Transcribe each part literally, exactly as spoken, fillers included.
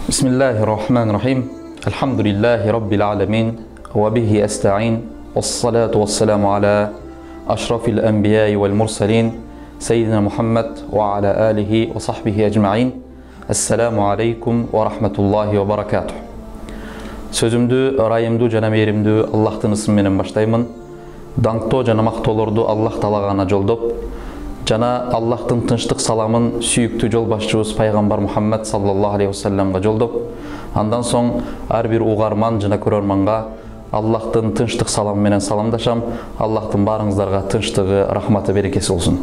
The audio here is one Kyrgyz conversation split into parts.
Bismillahirrahmanirrahim. Elhamdülillahi Rabbil alemin. Ve bihi esta'in. Vessalatu vesselamu ala aşrafil enbiyai vel mursalin. Seyyidina Muhammed ve ala alihi ve sahbihi ecma'in. Esselamu aleykum ve rahmetullahi ve barakatuh. Sözümdü, rayımdü, jana mээримдүү Allah'tın ismi menen başlayman. Dаңктоо жана мактоолорду Allah талагана жолдоп, жана Аллахтын тынчтык саламын сүйүктүү жол башчыбыз пайгамбар Мухаммед саллаллаху алейхи вассаламга жолдоп, андан соң ар бир угарман жана көрөрманга Аллахтын тынчтык саламы менен саламдашам. Аллахтын баарыңыздарга тынчтыгы, рахматы, берекеси болсун.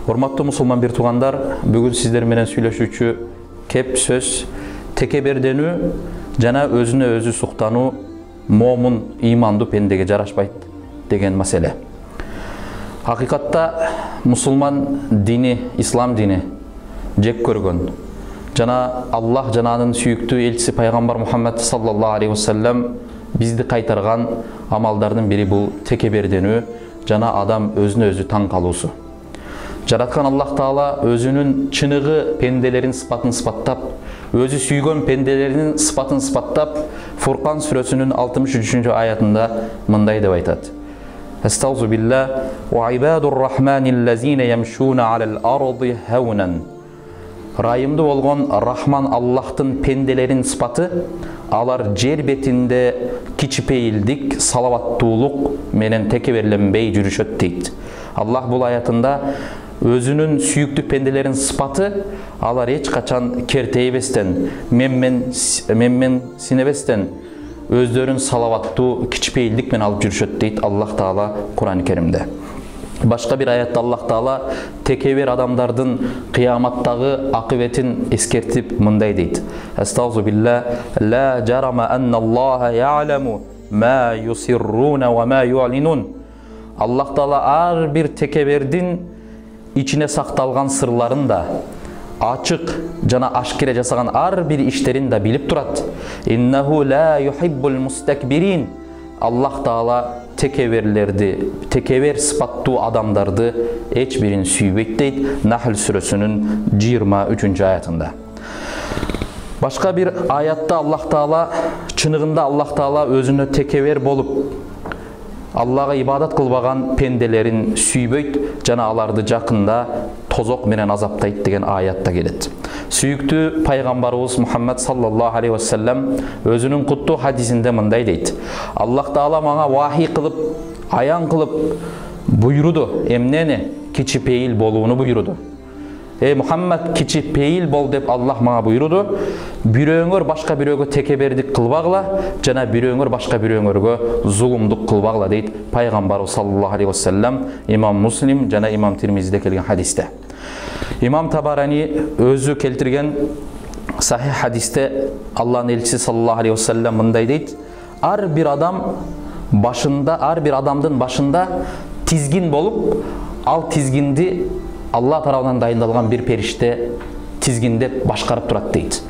Урматтуу мусулман бир туугандар, бүгүн сиздер менен сүйлөшүүчү кеп сөз текеберденүү жана өзүнө өзү суктануу момун, ыймандуу пендеге жарашпайт деген маселе. Hakikatta musulman dini, İslam dini jek көргөн жана Аллах жананын сүйүктүү элчиси пайгамбар Мухаммед саллаллаху алейхи вассалам бизди кайтарган амалдардын бири бул текеберденүү жана адам өзүнө өзү таң калуусу. Жараткан Аллах Таала өзүнүн чыныгы пенделерин сыпатын сыпаттап, өзү сүйгөн пенделеринин сыпатын сыпаттап, Фуркан сүрөсүнүн алтымыш үчүнчү аятында мындай деп айтат: Estağzu billah ve ibadur rahmanillezine yemşuna alel ardı hevnen. Rayımda bolgon Rahman Allah'tın pendelerin sıfatı, alar jer betinde kiçipeyildik, salavattуулuk menen tekebirlenbey жүрүшөt дейт. Allah bul ayatında özünün sүйүктүү pendelerin sıfatı, alar hiç kaçan kerteybesten, memmen memmen sinebesten, өздөрүн салаваттуу кичпейилдик менен алып жүрүшөт дейт Аллах Таала Кур'ан-ы Керимде. Башка бир аятта Аллах Таала текебер адамдардын кыяматтагы акыбетин эскертип мындай дейт: Estağzu billah la jarama annalloha ya'lamu ma yusirruna wa ma yu'linun. Аллах Таала ар бир текебердин ичине сакталган сырларын да, açık jana aşkire жасаган ар бир иштерин да билип турат. Innahu la yuhibbul mustakbirin. Allah Taala tekebirlerdi, tekeber sıfattуу адамдарды эч бирин сүйбөйт дейт Nahl сүрөсүнүн жыйырма үчүнчү аятында. Башка бир аятта Аллах Таала чыныгында Аллах Таала өзүнө текебер болуп, Аллага ибадат кылбаган пенделерин сүйбөйт жана аларды жакында тозок менен азаптайт деген аятта келет. Сүйүктүү пайгамбарыбыз Мухаммед саллаллаху алейхи вассалам өзүнүн куттуу хадисинде мындай дейт: Аллах Таала мага вахий кылып, аян кылып буйруду, эмнени? Кичипейил болууну буйруду. Ey Muhammed, кичипейил бол деп Аллах мага буйруду. Бирөөңөр башка бирөөгө текебердик кылбагыла, жана бирөөңөр башка бирөөңөргө зулумдук кылбагыла дейт пайгамбарыбыз саллаллаху алейхи вассалам имам Муслим жана имам Тирмизиде келген хадисте. Имам Табарани өзү келтирген сахих хадисте Аллахтын элчиси саллаллаху алейхи вассалам мындай дейт: ар бир адам башында, ар бир адамдын башында тизгин болуп, ал тизгинди Аллах тарабынан дайындалган бир периште тизгиндеп башкарып турат дейт.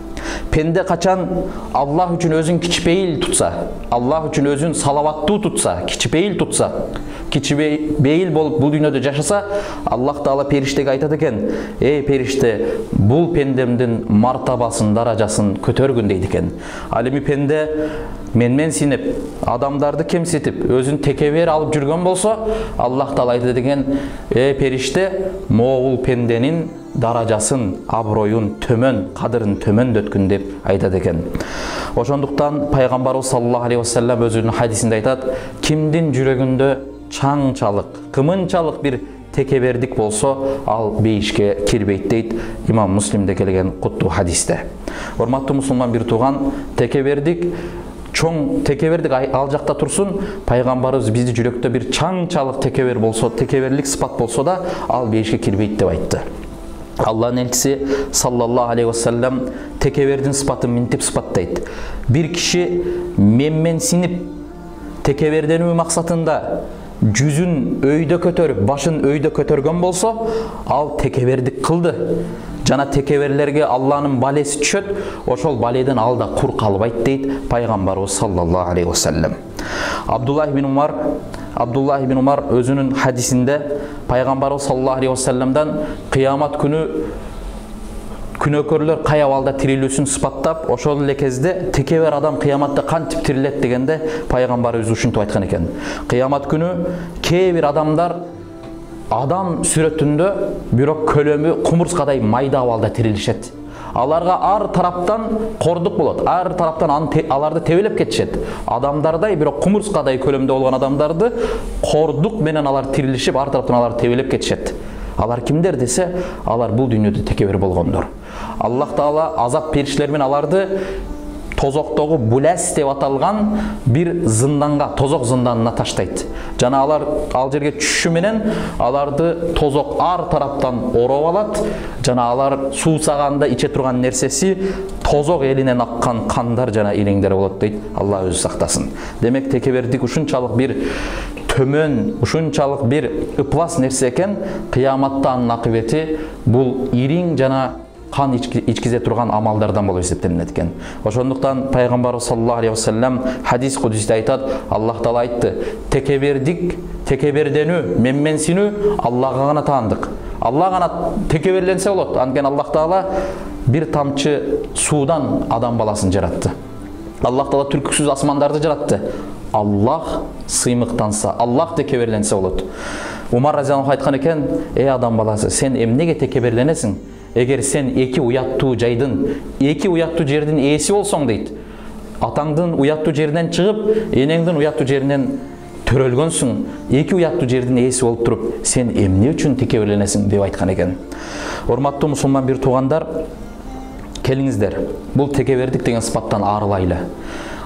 Пенде качан Аллах үчүн өзүн кичпейил тутса, Аллах үчүн өзүн салаваттуу тутса, кичпейил тутса, кичпейил болуп бул дүйнөдө жашаса, Аллах Таала периштеге айтат экен: "Эй периште, бул пендемдин мартабасын, даражасын көтөргүн" дейт экен. Ал эми пенде менмен синип, адамдарды кемситип, өзүн текебер алып жүргөн болсо, Аллах Таала айтат экен: "Эй периште, могул пенденин даражасын, аброюн төмөн, кадырын төмөндөткүн" деп айтат экен. Ошондуктан пайгамбарыбыз саллаллаху алейхи вассалам өзүнүн хадисинде айтат: "Кимдин жүрөгүндө чаңчалык, кымынчалык бир текебердик болсо, ал бейишке кирбейт" дейт имам Муслимде келген куттуу хадисте. Урматтуу мусулман бир тууган, текебердик чоң текебердик ал жакта турсун, пайгамбарыбыз бизди жүрөктө бир чаңчалык текебер болсо, текеберлик сыпат болсо да, ал бейишке кирбейт деп айтты. Аллахтын элчиси саллаллаху алейхи вассалам текебердин сыпатын минтип сыпаттайт: бир киши менмен синип, текеберденүү максатында жүзүн өйдө көтөрүп, башын өйдө көтөргөн болсо, ал текебердик кылды. Жана текеберлерге Алланын балеси түшөт, ошол баледен ал да кур калбайт дейт пайгамбарыбыз саллаллаху алейхи вассалам. Абдуллах ибн Умар Абдуллах ибн Умар өзүнүн хадисинде пайгамбарыбыз саллаллаху алейхи вассаламдан кыямат күнү күнөөкөрлөр кай абалда тирилүүсүн сыпаттап, ошол эле кезде текебер адам кыяматта кантип тирилет дегенде пайгамбарыбыз ушинтип айткан экен. Кыямат күнү кээ бир адамдар адам сүрөтүндө бирок көлөмү кумурскадай майда абалда тирилишет. Аларга ар тараптан кордук болот, ар тараптан аларды тебелеп кетишет. Адамдардай бирок кумурскадай көлөмдө болгон адамдарды кордук менен алар тирилишип, ар тараптан алар тебелеп кетишет. Алар кимдер десе, алар бул дүйнөдө текебер болгондор. Аллах Таала азап периштелер менен аларды тозоктогу булас деп аталган бир зынданга, тозок зынданына таштайт. Жана алар ал жерге түшүшү менен аларды тозок ар тараптан ороп алат. Жана алар суусаганда иче турган нерсеси тозок элинен аккан кандар жана илеңдер болот дейт. Алла өзү сактасын. Демек текебердик ушунчалык бир төмөн, ушунчалык бир ыплас нерсе экен, кыяматта анын акыбети бул ириң жана кан ичкизе турган амалдардан болуп эсептелинет экен. Ошондуктан пайгамбарыбыз саллаллаху алейхи вассалам хадис кудусте айтат, Аллах Таала айтты: "Текебердик, текеберденүү, менменсинүү Аллахка гана таандык. Аллах гана текеберленсе болот." Анткени Аллах Таала бир тамчы суудан адам баласын жаратты. Аллах Таала түркүсүз асмандарды жаратты. Аллах сыймыктанса, Аллах текеберленсе болот. Умар разияллаху айткан экен: "Эй адам баласы, сен эмнеге текеберленесиң? Эгер сен эки уяттуу жайдын, эки уяттуу жердин ээси болсоң" дейт. Атаңдын уяттуу жеринен чыгып, энеңдин уяттуу жеринен төрөлгөнсүң, эки уяттуу жердин ээси болуп туруп, сен эмне үчүн текеберленесиң деп айткан экен. Урматтуу мусулман бир туугандар, келиңиздер, бул текебердик деген сыпаттан арылайлы.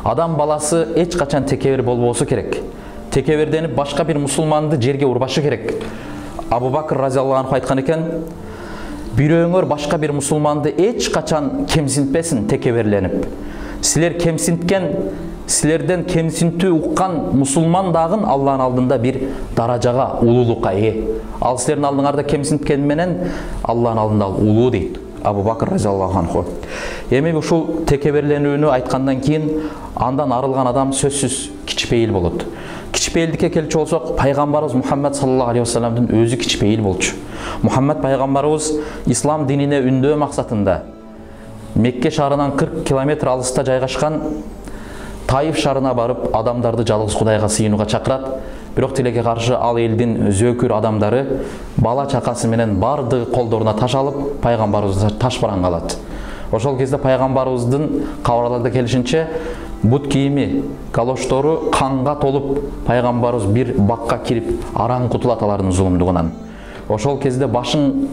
Адам баласы эч качан текебер болбосу керек. Текеберденип башка бир мусулманды жерге урбашы керек. Абу Бакр разияллаху анху айткан экен: "Бирөөңөр башка бир мусулманды эч качан кемсинтпесин текеберленип. Силер кемсинткен, силерден кемсинтүү уккан мусулман дагы Алланын алдында бир даражага, улуулукка ээ. Ал силердин алдыңарда кемсинткен менен Алланын алдында ал улуу" дейт Абу Бакр разияллаху анху. Эми ушул текеберленүүнү айткандан кийин андан арылган адам сөзсүз кичпейил болот. Кичпейилдикке келчү болсок, пайгамбарыбыз Мухаммад саллаллаху алейхи вассаламдын өзү кичпейил болчу. Мухаммад пайгамбарыбыз ислам динине үндөө максатында Мекке шаарынан кырк километр алыста жайгашкан Таиф шаарына барып, адамдарды жалгыз Кудайга сыйынууга чакырат. Бирок тилекке каршы ал элдин зөөкүр адамдары бала чакасы менен бардыгы колдоруна таш алып, пайгамбарыбызды таш баран калат. Ошол кезде пайгамбарыбыздын кабарларда келишинче бут кийими, калоштору канга толуп, пайгамбарыбыз бир бакка кирип араң кутулат алардын зулумдугунан. Ошол кезде башын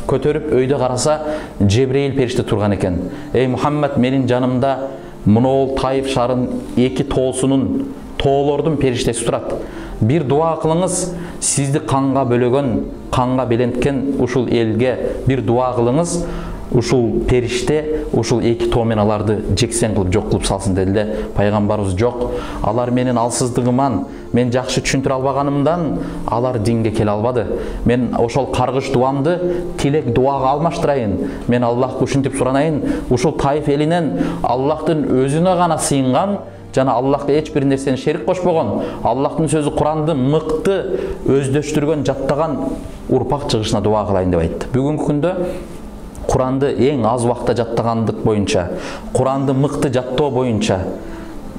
көтөрүп өйдө караса, Жебрейил периште турган экен. "Эй Мухаммад, менин жанымда монол Таиф шаарынын эки тоосунун, тоолордун периштеси турат. Бир дуа кылыңыз, сизди канга бөлөгөн, канга беленткен ушул элге бир дуа кылыңыз. Ушул периште ушул эки тоо менен аларды жексен кылып жок кылып салсын" деди эле. Пайгамбарыбыз: "Жок, алар менин алсыздыгыман, мен жакшы түшүндүрө албаганымдан алар динге келе албады. Мен ошол каргыш дуамды тилек дуага алмаштырайын. Мен Аллахка ушинтип суранайын, ушул Таиф элинен Аллахтын өзүнө гана сыйынган жана Аллахка эч бир нерсени шерик кошпогон, Аллахтын сөзү Куранды мыкты өздөштүргөн, жаттаган урпак чыгышына дуа кылайын" деп айтты. Бүгүнкү күндө Куранды эң аз убакта жаттагандык боюнча, Куранды мыкты жаттоо боюнча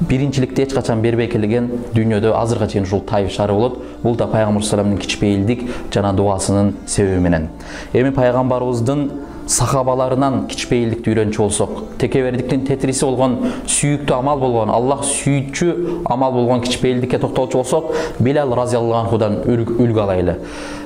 биринчиликти эч качан бербей келген дүйнөдө азыркыга чейин ушул Таиф шаары болот. Бул да пайгамбар салламдын кичпейилдик жана дуасынын себеби менен. Эми пайгамбарыбыздын сахабаларынан кичпейилдикти үйрөнчү болсок, текебердиктин тетириси болгон, сүйүктүү амал болгон, Аллах сүйүүчү амал болгон кичпейилдикке токтолчу болсок, Билал разияллаху анхудан үлгү алайлы.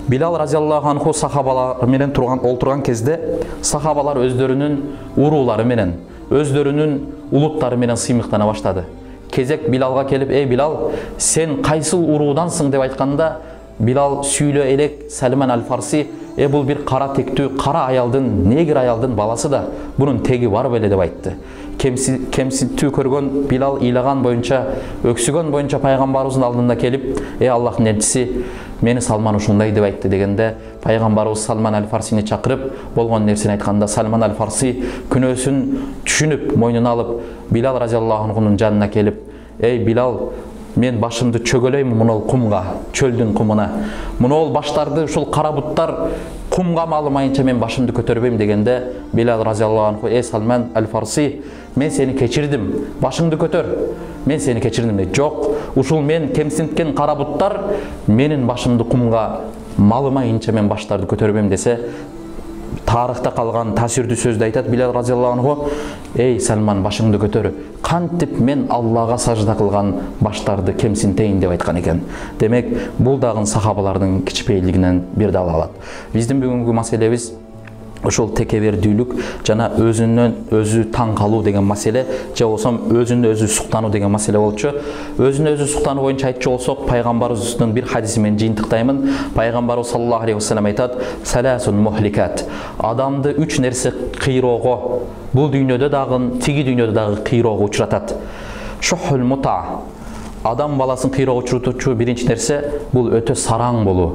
Билал разияллаху анху сахабалар менен турган олтурган кезде, сахабалар өздөрүнүн уруулары менен, өздөрүнүн улуттары менен сыймыктана баштады. Кезек Билалга келип: "Эй Билал, сен кайсыл уруудансың?" деп айтканда, Билал сүйлө элек Сальман аль-Фарси э бул бир кара тектүү кара аялдын, негр аялдын баласы да, бунун теги бар беле деп айтты. Кемситтүү көргөн Билал ыйлаган боюнча, өксүгөн боюнча пайгамбарыбыздын алдына келип, э Аллахтын элчиси, мени Салман ушундай деп айтты дегенде, пайгамбарыбыз Сальман аль-Фарсини чакырып, болгон нерсени айтканда, Сальман аль-Фарси күнөөсүн түшүнүп, мойнуна алып, Билал разияллаху анхунун жанына келип, эй Билал, мен башымды чөгөлөйм мунул кумга, чөлдүн кумуна. Мунул баштарды ушул кара буттар кумга малымайынча мен башымды көтөрбөйм дегенде, Билал разияллаху анху, эй Сальман аль-Фарси, мен сени кечирдим, башыңды көтөр. Мен сени кечирдим дейт. Жок, ушул мен кемсинткен кара буттар менин башымды кумга малымайынча мен баштарды көтөрбөйм десе, тарыхта калган таасирдүү сөздү айтат Билал разияллаху анху, эй Сальман, башыңды көтөр. Кантип мен Аллага сажда кылган баштарды кемсинтейин деп айткан экен. Демек, бул дагы сахабалардын кичпейилигинен бир далалат. Биздин бүгүнкү маселебиз ошол текебердүүлүк жана өзүнөн өзү таң калуу деген маселе, же болсо өзүнө өзү суктануу деген маселе болчу. Өзүнө өзү суктануу боюнча айтчу болсок, пайгамбарыбыздын бир хадиси менен жыйынтыктаймын. Пайгамбарыбыз саллаллаху алейхи вассалам айтат: "Саласун мухликат". Адамды үч нерсе кыйроого, бул дүйнөдө дагы, тиги дүйнөдө дагы кыйроого учуратат. Шухул мута. Адам баласын кыйроого учуртуучу биринчи нерсе бул өтө сараң болуу.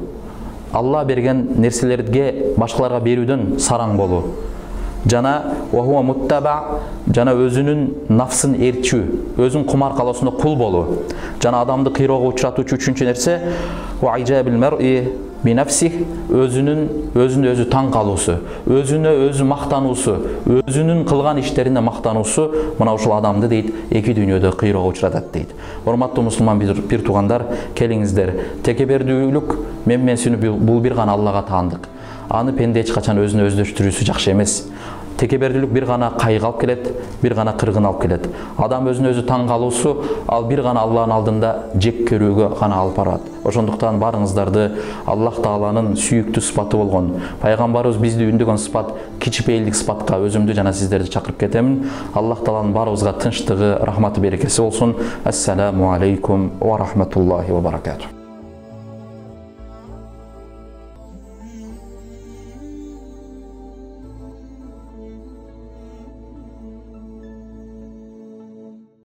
Алла берген нерселерге башкаларга берүүдөн сараң болуу. Жана вахуа муттаба, жана өзүнүн нафсын ээрчүү, өзүнүн кумар-калоосуна кул болуу. Жана адамды кыйроого учуратуучу үчүнчү нерсе ва ижабил мар'i би нафсих, өзүнүн өзүнө өзү таң калуусу, өзүнө өзү мактануусу, өзүнүн кылган иштерине мактануусу, мына ушул адамды дейт эки дүйнөдө кыйроого учуратат дейт. Урматтуу мусулман бир туугандар, келиңиздер, текебердүүлүк, менменсинүү бул бир гана Аллага таандык. Аны пенде эч качан өзүнө өздөштүрүүсү жакшы эмес. Текебердүүлүк бир гана кайгы алып келет, бир гана кыргын алып келет. Адам өзүнө өзү таң калуусу ал бир гана Алланын алдында жек көрүүгө гана алып барат. Ошондуктан барыңыздарды Аллах Тааланын сүйүктүү сыпаты болгон, пайгамбарыбыз бизди үндөгөн сыпат, кичпейилдик сыпатка өзүмдү жана сиздерди чакырып кетемин. Аллах Тааланын баарыбызга тынчтыгы, рахматы, берекеси болсун. Ассаламу алейкум ва рахматуллахи ва баракатух.